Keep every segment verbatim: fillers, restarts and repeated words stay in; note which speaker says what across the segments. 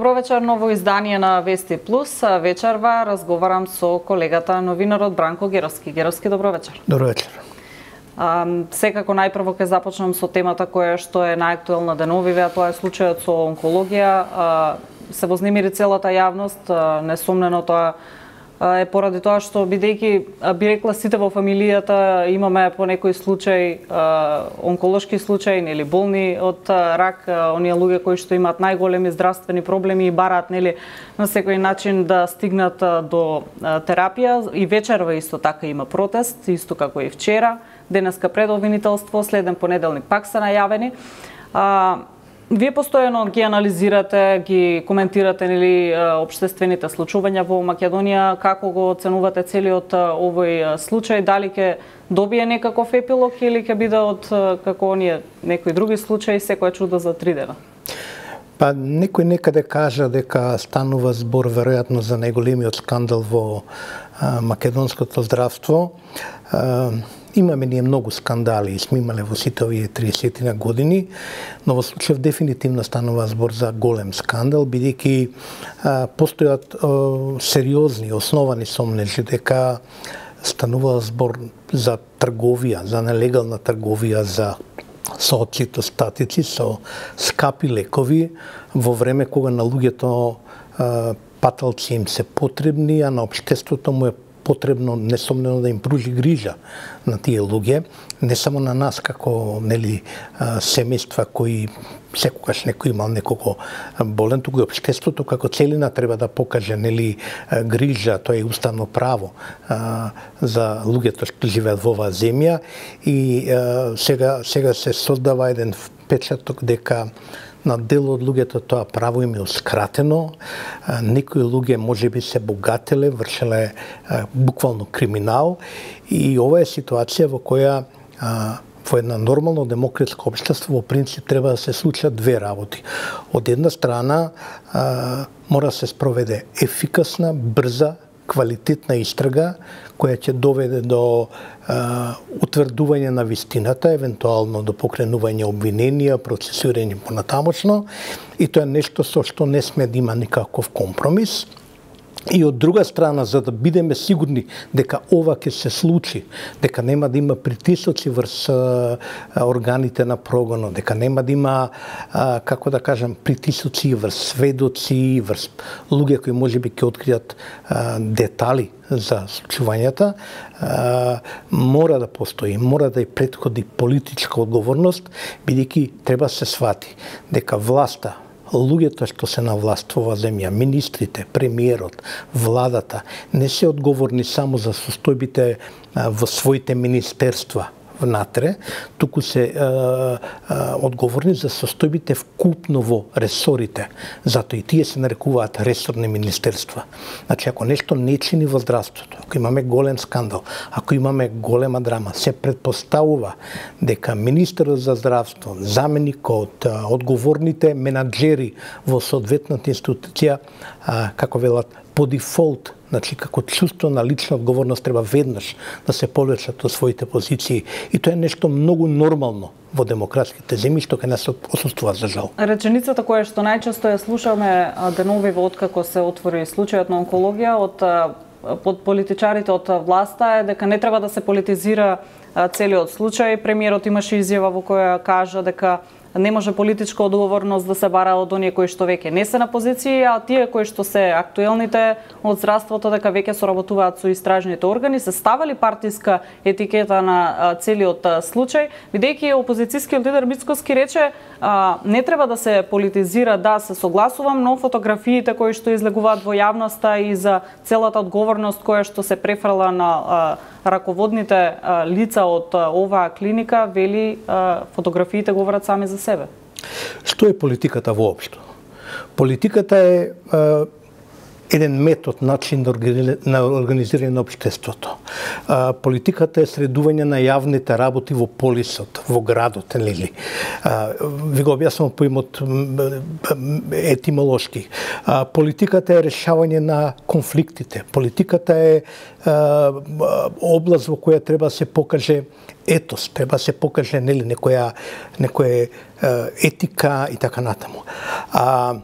Speaker 1: добро вечер, ново издание на Вести Плюс. Вечерва разговарам со колегата новинарот Бранко Геровски. Геровски, добро вечер.
Speaker 2: Добро вечер.
Speaker 1: А, секако најпрво ќе започнам со темата која што е најактуелна деновиве, а тоа е случајот со онкологија. А, се вознемири целата јавност, а, несомнено тоа е поради тоа што, бидејќи би рекла сите во фамилијата имаме по некој случај онколошки случај, нели болни од рак, оние луѓе кои што имаат најголеми здравствени проблеми и бараат, нели, на секој начин да стигнат до терапија. И вечерва исто така има протест, исто како и вчера. Денеска пред обвинителство, следен понеделник пак се најавени. А, Вие постојано ги анализирате, ги коментирате, нели, општествените случувања во Македонија. Како го оценувате целиот овој случај? Дали ќе добие некаков епилог или ќе биде од како оние некои други случаи, секоја чудо за три дена?
Speaker 2: Па некој некаде кажа дека станува збор веројатно за најголемиот скандал во а, македонското здравство. А, Имаме ние многу скандали и сме имале во сите овие триесет години, но во случајов дефинитивно станува збор за голем скандал, бидејќи постојат а, сериозни, основани сомнежи дека станува збор за трговија, за нелегална трговија, за со цитостатици, со скапи лекови во време кога на луѓето а, паталци им се потребни, а на општеството му е потребно несомнено да им пружи грижа на тие луѓе, не само на нас како, нели, семејства кои секогаш некој имал некого болен, туку и општеството како целина треба да покаже, нели, грижа, тоа е уставно право а, за луѓето што живеат во оваа земја и а, сега сега се создава еден впечаток дека на дел од луѓето тоа право им е ускратено, некои луѓе можеби се богателе, вршеле буквално криминал и ова е ситуација во која а, во една нормално демократско општество во принцип треба да се случат две работи. Од една страна а, мора да се спроведе ефикасна, брза, квалитетна истрага која ќе доведе до а, утврдување на вистината, евентуално до покренување обвиненија, процесирање понатамошно, и тоа е нешто со што не сме да има никаков компромис. И од друга страна, за да бидеме сигурни дека ова ќе се случи, дека нема да има притисоци врз а, органите на прогонот, дека нема да има, а, како да кажам, притисоци врз сведоци, врз луѓе кои можеби ќе откријат а, детали за случувањата, а, мора да постои, мора да и претходи политичка одговорност, бидејќи треба се свати дека власта, луѓето што се на власт во оваа земја, министрите, премиерот, владата, не се одговорни само за состојбите во своите министерства внатре, туку се а, а, одговорни за состојбите вкупно во ресорите. Затоа и тие се нарекуваат ресорни министерства. Значи, ако нешто не чини во здравството, ако имаме голем скандал, ако имаме голема драма, се предпоставува дека министерот за здравство, заменикот, одговорните менаџери во соодветната институција, а, како велат, по дефолт, значи како чувство на лична одговорност треба веднаш да се повлечат од своите позиции, и тоа е нешто многу нормално во демократските земји што кај нас отсуствува, за жал.
Speaker 1: Реченицата која што најчесто ја слушаме деновиве откако се отвори случајот на онкологија од под политичарите од власта е дека не треба да се политизира целиот случај. Премиерот имаше изјава во која кажа дека не може политичка одговорност да се бара од оние кои што веќе не се на позиции, а тие кои што се актуелните од здравството дека веќе соработуваат со истражните органи, се ставали партиска етикета на целиот случај, бидејќи опозицијскиот лидер Мицкоски рече а, не треба да се политизира, да, се согласувам, но фотографиите кои што излегуваат во јавноста и за целата одговорност која што се префрла на а, раководните а, лица од а, оваа клиника, вели а, фотографиите говорат сами за себе.
Speaker 2: Што е политиката воопшто? Политиката е а, еден метод, начин на организирање на општеството. А, политиката е средување на јавните работи во полисот, во градот, нели? Ви го објаснувам по имот етимолошки. А, политиката е решавање на конфликтите. Политиката е а, област во која треба да се покаже етос, треба да се покаже, нели, некоја некоја етика и така натаму. А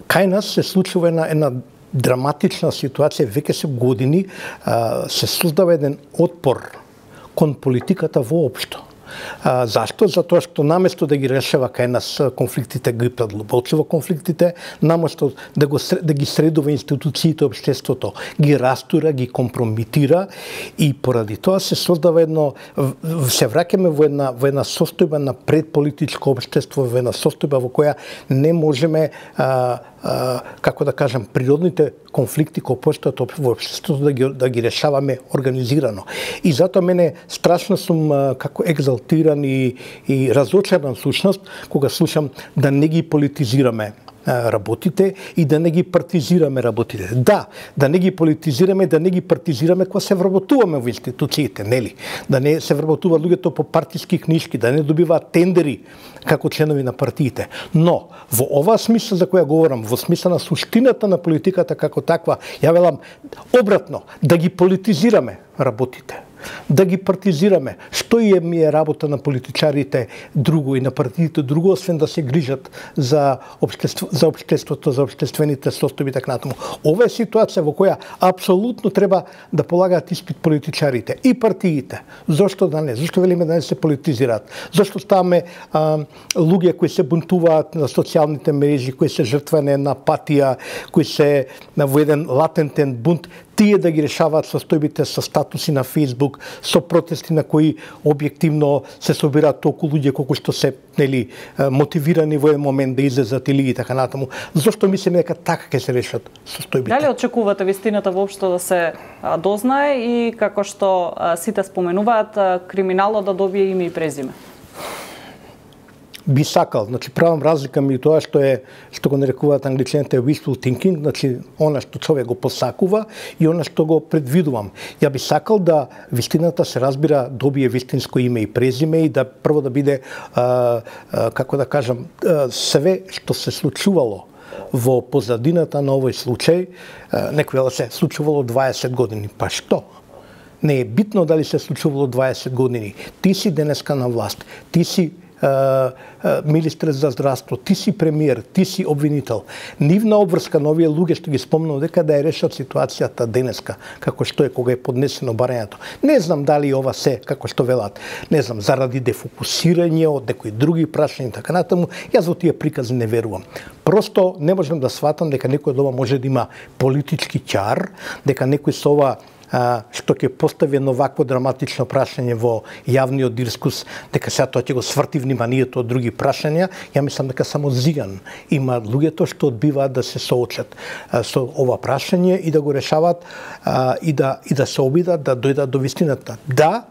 Speaker 2: кај нас се случува една, една драматична ситуација, веќе се години а, се создава еден отпор кон политиката воопшто. А, зашто? Затоа што наместо да ги решава кај нас конфликтите, ги предлабочува конфликтите, наместо да, го, да ги средува институциите, општеството, ги растура, ги компромитира и поради тоа се создава едно, се враќаме во една, во една состојба на предполитичко општество, во една состојба во која не можеме а, а, како да кажам, природните конфликти кои постојат во општеството да ги, да ги решаваме организирано. И затоа мене страшно сум а, како екзалтиран и, и разочаран сушност кога слушам да не ги политизираме работите и да не ги партизираме работите. Да, да не ги политизираме, да не ги партизираме кога се вработуваме во институциите, нели? Да не се вработуваат луѓето по партиски книжки, да не добиваат тендери како членови на партиите. Но, во оваа смисла за која говорам, во смисла на суштината на политиката како таква, ја велам обратно, да ги политизираме работите. Да ги партизираме. Што е ми е работа на политичарите друго и на партиите друго, освен да се грижат за општество, за општеството, за општествените состојби така натаму. Ова е ситуација во која апсолутно треба да полагаат испит политичарите и партиите. Зошто да не? Зошто велиме да не се политизираат? Зошто ставаме а, луѓе кои се бунтуваат на социјалните мрежи, кои се жртване на апатија, кои се во еден латентен бунт, тие да ги решаваат состојбите со статуси на Facebook, со протести на кои објективно се собираат толку луѓе колку што се, нели, мотивирани во еден момент да излезат или и така натаму. Зошто мислиме дека така ќе се решат состојбите?
Speaker 1: Дали очекувате вистината воопшто да се а, дознае и како што а, сите споменуваат, а, криминалот да добие име и презиме?
Speaker 2: Би сакал, значи правам разлика меѓу тоа што е што го нарекуваат англичаните wishful thinking, значи она што човек го посакува и она што го предвидувам. Ја би сакал да вистината се разбира, добие вистинско име и презиме и да прво да биде а, а, како да кажам, а, све што се случувало во позадината на овој случај, а, некој вела се случувало дваесет години, па што? Не е битно дали се случувало дваесет години. Ти си денеска на власт, ти си министр за здравство, ти си премиер, ти си обвинител. Нивна обврска на овие луѓе што ги спомнав дека да ја решат ситуацијата денеска, како што е кога е поднесено барањето. Не знам дали ова се, како што велат, не знам, заради дефокусирање од некои други прашања така натаму, јас во тие прикази не верувам. Просто не можам да сватам дека некој од ова може да има политички ќар, дека некој со ова А, што ќе постави едно вакво драматично прашање во јавниот дискурс, дека сега тоа ќе го сврти вниманието од други прашања, ја мислам дека само зиган има луѓето што одбиваат да се соочат а, со ова прашање и да го решаваат а, и да и да се обидат да дојдат до вистината. Да,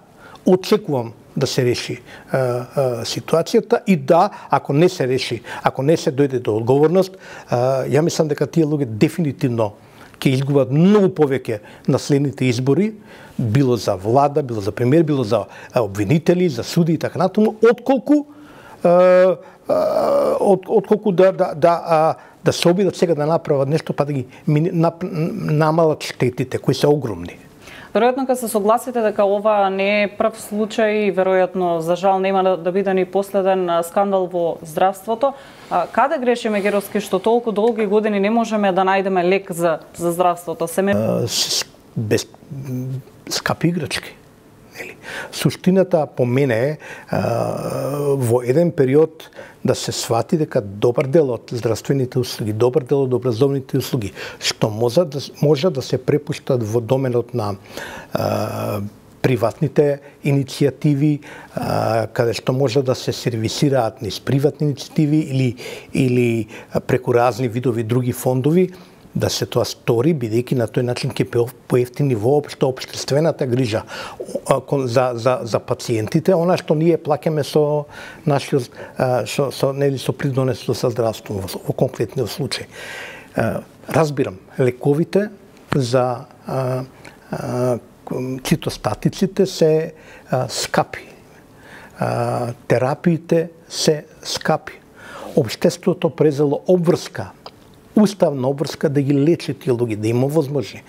Speaker 2: очекувам да се реши а, а, ситуацијата и да, ако не се реши, ако не се дојде до одговорност, а, ја мислам дека тие луѓе дефинитивно ќе изгубат многу повеќе на следните избори, било за влада, било за премиер, било за обвинители, за суди и така натаму, отколку од, отколку да да да да се обидат сега да направат нешто па да ги намалат штетите кои се огромни.
Speaker 1: Веројатно ќе се согласите дека ова не е прв случај, веројатно за жал нема да, да биде ни последен скандал во здравството. А, каде грешиме, Геровски, што толку долги години не можеме да најдеме лек за за здравството? Се ме...
Speaker 2: без скапи играчки. Нели? Суштината по мене е во еден период да се свати дека добар дел од здравствените услуги, добар дел од образовните услуги, што може да, може да се препуштат во доменот на а, приватните иницијативи, а, каде што може да се сервисираат низ приватни иницијативи или, или преку разни видови други фондови, да се тоа стори, бидејќи на тој начин ќе поевтини воопшто општествената грижа за, за, за пациентите, она што ние плаќаме со нашиот со, со, нели, со придонесото за здравство во, во конкретниот случај. Разбирам, лековите за а, а, цитостатиците се а, скапи. А, терапиите се скапи. Општеството презело обврска, уставна обврска да ги лечи тие луѓе, да има возможни.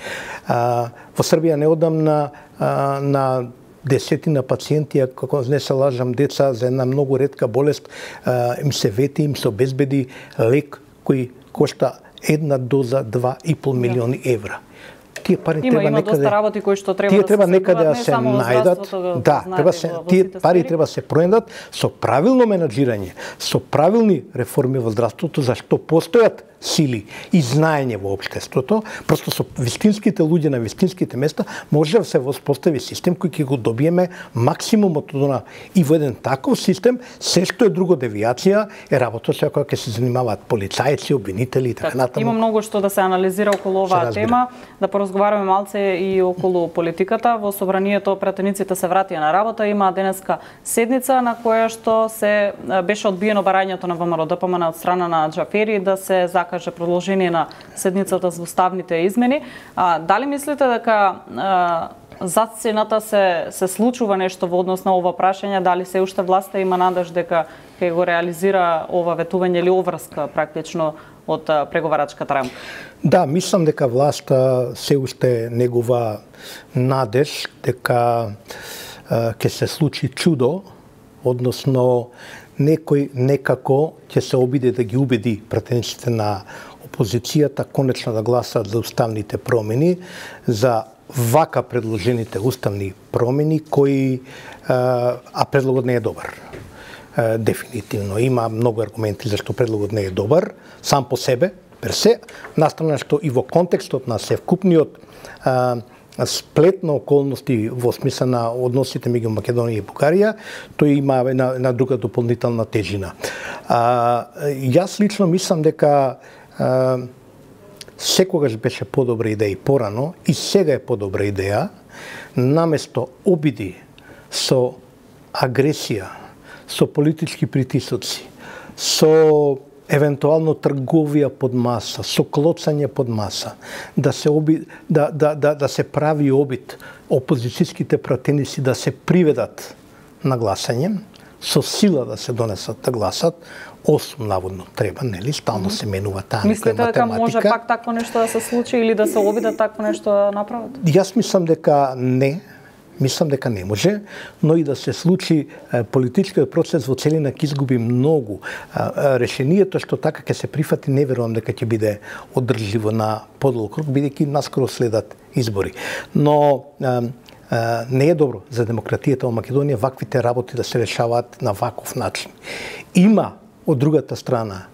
Speaker 2: А, во Србија неодамна а, на десетина пациенти, ако не се лажам, деца за една многу ретка болест, а, им се вети, им се обезбеди лек кој кошта една доза два и пол милиони евра. Тие пари
Speaker 1: има,
Speaker 2: треба
Speaker 1: има
Speaker 2: некаде.
Speaker 1: доста работи кои што треба
Speaker 2: тие
Speaker 1: да
Speaker 2: треба
Speaker 1: се
Speaker 2: некаде да
Speaker 1: не
Speaker 2: се најдат. Да, треба се тие пари треба да се пронајдат со правилно менаџирање, со правилни реформи во здравството, зашто постојат сили и знаење во општеството, просто со вистинските луѓе на вистинските места може да се воспостави систем кој ќе го добиеме максимумот од она. И во еден таков систем, се што е друго девијација е работа со која ќе се занимаваат полицајци, обвинители и така натаму.
Speaker 1: Има многу што да се анализира околу оваа тема, да поразговараме малце и околу политиката. Во собранието пратениците се вратија на работа, има денеска седница на која што се беше одбиено барањето на ВМРО Д П М Н од страна на Џафери да се каже продолжение на седницата за уставните измени. А, дали мислите дека а, зад сцената се се случува нешто во однос на ова прашање, дали се уште власта има надеж дека ќе го реализира ова ветување или оврска практично од а, преговарачката рамка?
Speaker 2: Да, мислам дека власта се уште негова надеж дека ќе се случи чудо, односно некој некако ќе се обиде да ги убеди пратениците на опозицијата конечно да гласат за уставните промени, за вака предложените уставни промени кои а предлогот не е добар. Дефинитивно има многу аргументи зашто предлогот не е добар сам по себе, персе, настрана што и во контекстот на севкупниот сплет на околности во смисла на односите меѓу Македонија и Бугарија, тој има една, една друга дополнителна тежина. А, јас лично мислам дека а, секогаш беше подобра идеја и порано, и сега е подобра идеја, наместо обиди со агресија, со политички притисоци, со евентуално трговија под маса, со клоцање под маса, да се оби, да, да, да, да се прави обид опозицијските пратеници да се приведат на гласање, со сила да се донесат да гласат, осум наводно треба, нели, стално се менува таа некоја математика.
Speaker 1: Мислите дека може пак такво нешто да се случи или да се обидат такво нешто да направат?
Speaker 2: Јас мислам дека не, мислам дека не може, но и да се случи политичкиот процес во целина ќе изгуби многу. Решението што така ќе се прифати, не верувам дека ќе биде одржливо на подолг рок, бидејќи наскоро следат избори. Но не е добро за демократијата во Македонија ваквите работи да се решаваат на ваков начин. Има од другата страна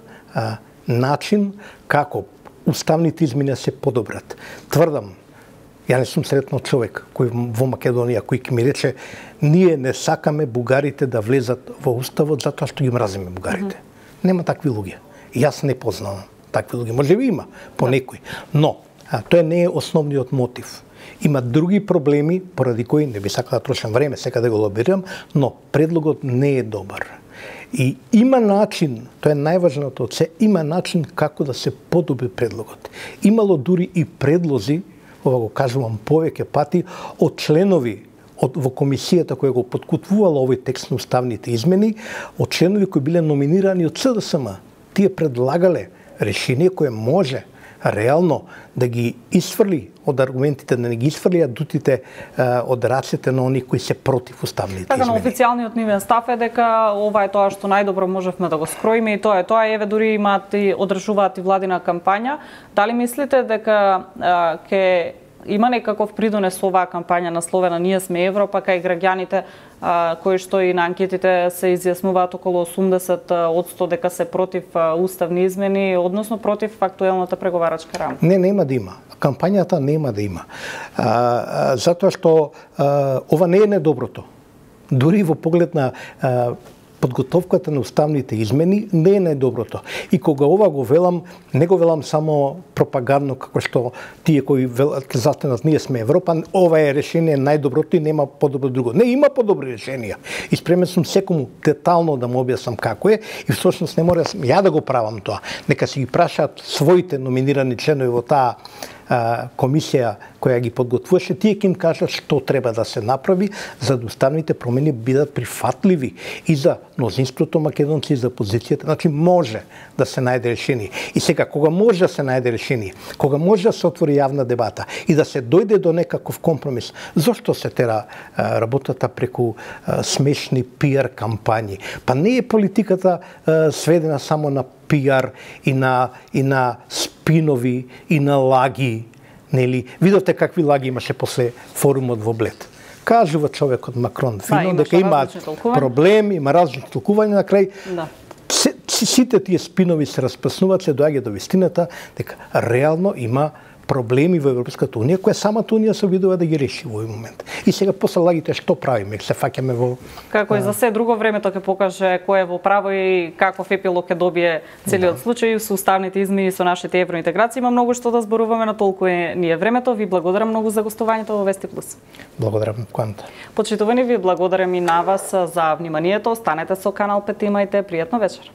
Speaker 2: начин како уставните измени се подобрат. Тврдам, ја не сум сретнал човек кој во Македонија кој ќе ми рече ние не сакаме бугарите да влезат во уставот затоа што ги мразиме бугарите. Mm -hmm. Нема такви луѓе. Јас не познавам такви луѓе. Може би има по некој, но а, тоа не е основниот мотив. Има други проблеми поради кои не би сакал да трошам време сега да го лобирам, но предлогот не е добар. И има начин, тоа е најважното од се, има начин како да се подобри предлогот. Имало дури и предлози, ова го кажувам повеќе пати, од членови од, во комисијата која го подкупувала овој текст на уставните измени, од членови кои биле номинирани од С Д С М. Тие предлагале решение кое може реално да ги исфрли од аргументите, да не ги исфрли адутите од рацете на оние кои се против уставните
Speaker 1: така,
Speaker 2: измени.
Speaker 1: Така, официјалниот нивен став е дека ова е тоа што најдобро можевме да го скроиме и тоа е тоа. Еве дури имаат и одржуваат и владина кампања. Дали мислите дека ќе има некаков придонес оваа кампања насловена Ние сме Европа кај граѓаните а, кои што и на анкетите се изјаснуваат околу осумдесет одсто дека се против а, уставни измени, односно против актуелната преговарачка рамка?
Speaker 2: Не, нема да има. Кампањата нема да има. А, а, затоа што а, ова не е недоброто. Дури во поглед на а, подготовката на уставните измени не е најдоброто. И кога ова го велам, не го велам само пропагандно како што тие кои велат застенат ние сме Европа, ова е решение најдоброто и нема подобро друго. Не, има подобри решенија. И спремен сум секому детално да му објаснам како е и всушност не мора ја да го правам тоа. Нека си ги прашаат своите номинирани членови во таа комисија која ги подготвуваше, тие ќе им кажат што треба да се направи за да уставните промени бидат прифатливи и за мнозинството македонци и за опозицијата. Значи може да се најде решение. И сега кога може да се најде решение, кога може да се отвори јавна дебата и да се дојде до некаков компромис, зошто се тера а, работата преку а, смешни пиар кампањи? Па не е политиката а, сведена само на пиар, и на и на спинови, и на лаги, нели? Видовте какви лаги имаше после форумот во Блед. Кажува човекот Макрон фино дека има проблем, има различни толкувања, на крај
Speaker 1: Да.
Speaker 2: Сите тие спинови се распаснуваат, се доаѓа до вистината дека реално има проблеми во Европската унија, која самата унија се обидува да ги реши во овој момент. И сега после лагите што правиме? Се фаќаме во
Speaker 1: Како и за се друго, времето ќе покаже кој е во право и каков епилог ќе добие целиот да. случај со уставните измени со нашите евроинтеграции. Има многу што да зборуваме, на толку е ние времето. Ви благодарам многу за гостувањето во Вести Плюс.
Speaker 2: Благодарам, Кванта.
Speaker 1: Почитувани, ви благодарам и на вас за вниманието. Останете со Канал пет, имајте пријатно вечер.